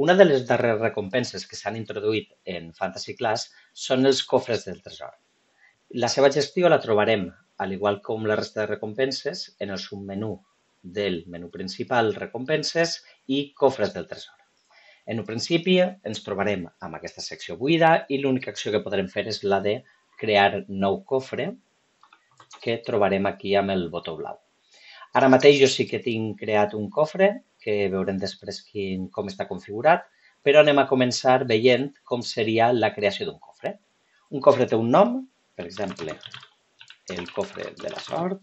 Una de les darreres recompenses que s'han introduït en Fantasy Class són els cofres del tresor. La seva gestió la trobarem, al igual com la resta de recompenses, en el submenú del menú principal Recompenses i Cofres del tresor. En un principi ens trobarem amb aquesta secció buida i l'única acció que podrem fer és la de crear nou cofre que trobarem aquí amb el botó blau. Ara mateix jo sí que tinc creat un cofre, que veurem després com està configurat, però anem a començar veient com seria la creació d'un cofre. Un cofre té un nom, per exemple, el cofre de la sort.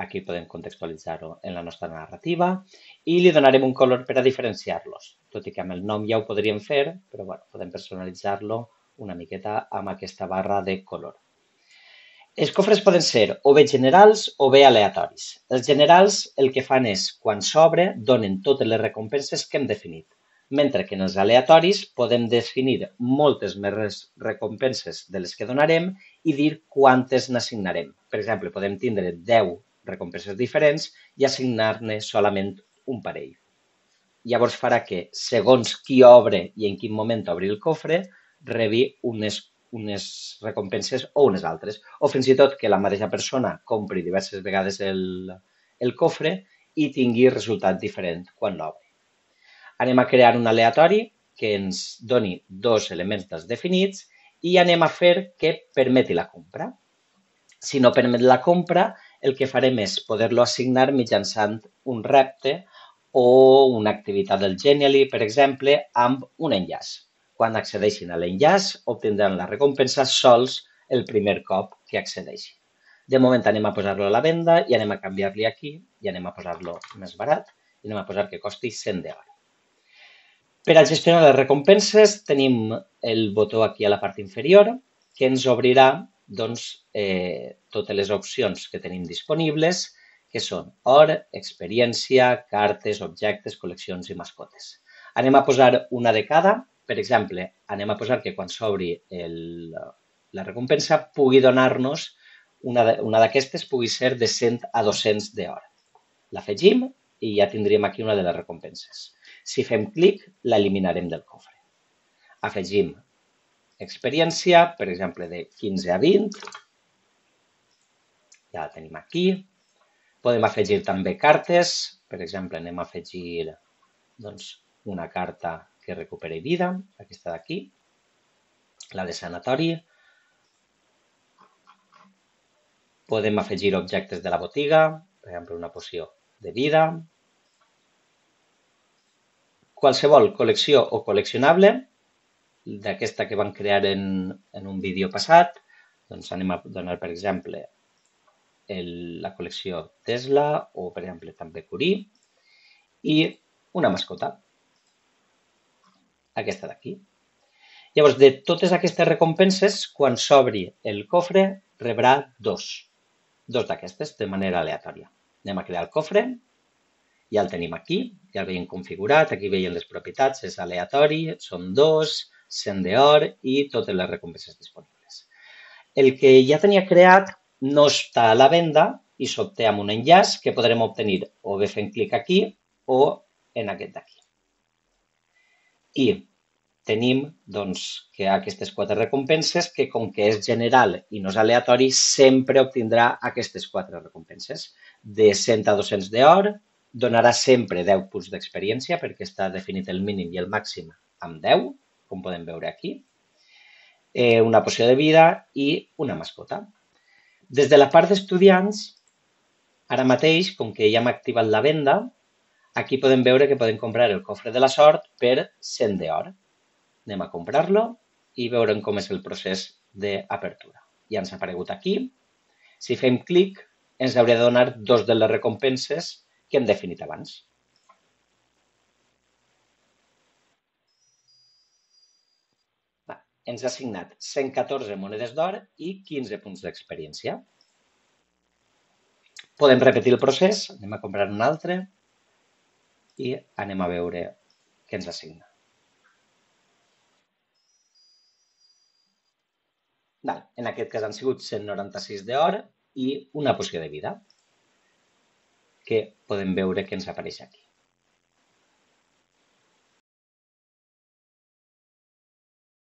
Aquí podem contextualitzar-ho en la nostra narrativa i li donarem un color per a diferenciar-los. Tot i que amb el nom ja ho podríem fer, però bueno, podem personalitzar-lo una miqueta amb aquesta barra de color. Els cofres poden ser o bé generals o bé aleatoris. Els generals el que fan és, quan s'obre, donen totes les recompenses que hem definit, mentre que en els aleatoris podem definir moltes més recompenses de les que donarem i dir quantes n'assignarem. Per exemple, podem tindre 10 recompenses diferents i assignar-ne solament un parell. Llavors farà que, segons qui obre i en quin moment obri el cofre, rebi unes recompenses o unes altres, o fins i tot que la mateixa persona compri diverses vegades el cofre i tingui resultat diferent quan l'obri. Anem a crear un aleatori que ens doni dos elements dels definits i anem a fer que permeti la compra. Si no permet la compra, el que farem és poder-lo assignar mitjançant un repte o una activitat del Genially, per exemple, amb un enllaç. Quan accedeixin a l'enllaç, obtindran la recompensa sols el primer cop que accedeixin. De moment anem a posar-lo a la venda i anem a canviar-li aquí i anem a posar-lo més barat i anem a posar que costi 100 d'or. Per a gestionar les recompenses tenim el botó aquí a la part inferior que ens obrirà totes les opcions que tenim disponibles, que són or, experiència, cartes, objectes, col·leccions i mascotes. Anem a posar una de cada. Per exemple, anem a posar que quan s'obri la recompensa pugui donar-nos, una d'aquestes pugui ser de 100 a 200 d'or. L'afegim i ja tindríem aquí una de les recompenses. Si fem clic, l'eliminarem del cofre. Afegim experiència, per exemple, de 15 a 20. Ja la tenim aquí. Podem afegir també cartes. Per exemple, anem a afegir una carta que recuperi vida, aquesta d'aquí, la de sanatori. Podem afegir objectes de la botiga, per exemple, una poció de vida. Qualsevol col·lecció o col·leccionable, d'aquesta que vam crear en un vídeo passat, doncs anem a donar, per exemple, la col·lecció Tesla o, per exemple, també Curie, i una mascota. Aquesta d'aquí. Llavors, de totes aquestes recompenses, quan s'obri el cofre, rebrà dos d'aquestes de manera aleatòria. Anem a crear el cofre, ja el tenim aquí, ja el veiem configurat, aquí veiem les propietats, és aleatori, són 2, 100 d'or i totes les recompenses disponibles. El que ja tenia creat no està a la venda i s'obté amb un enllaç que podrem obtenir o bé fent clic aquí o en aquest d'aquí. I tenim que aquestes 4 recompenses que, com que és general i no és aleatori, sempre obtindrà aquestes 4 recompenses. De 100 a 200 d'or, donarà sempre 10 punts d'experiència perquè està definit el mínim i el màxim amb 10, com podem veure aquí. Una poció de vida i una mascota. Des de la part d'estudiants, ara mateix, com que ja hem activat la venda, aquí podem veure que podem comprar el cofre de la sort per 100 d'or. Anem a comprar-lo i veurem com és el procés d'apertura. Ja ens ha aparegut aquí. Si fem clic, ens hauria de donar 2 de les recompenses que hem definit abans. Ens ha assignat 114 monedes d'or i 15 punts d'experiència. Podem repetir el procés, anem a comprar un altre i anem a veure què ens assigna. En aquest cas han sigut 196 d'or i una poció de vida, que podem veure que ens apareix aquí.